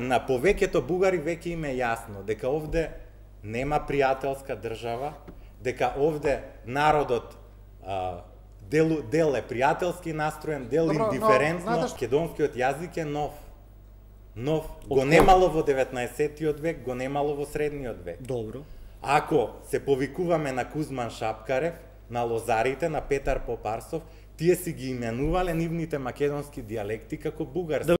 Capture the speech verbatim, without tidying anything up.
На повеќето бугари веќе им е јасно дека овде нема пријателска држава, дека овде народот а, дел, дел е пријателски настроен, дел Добро, индиферентно. но, Македонскиот јазик е нов. Нов. Го немало во деветнаесеттиот век, го немало во средниот век. Добро. Ако се повикуваме на Кузман Шапкарев, на лозарите, на Петар Попарсов, тие си ги именувале нивните македонски дијалекти како бугарски.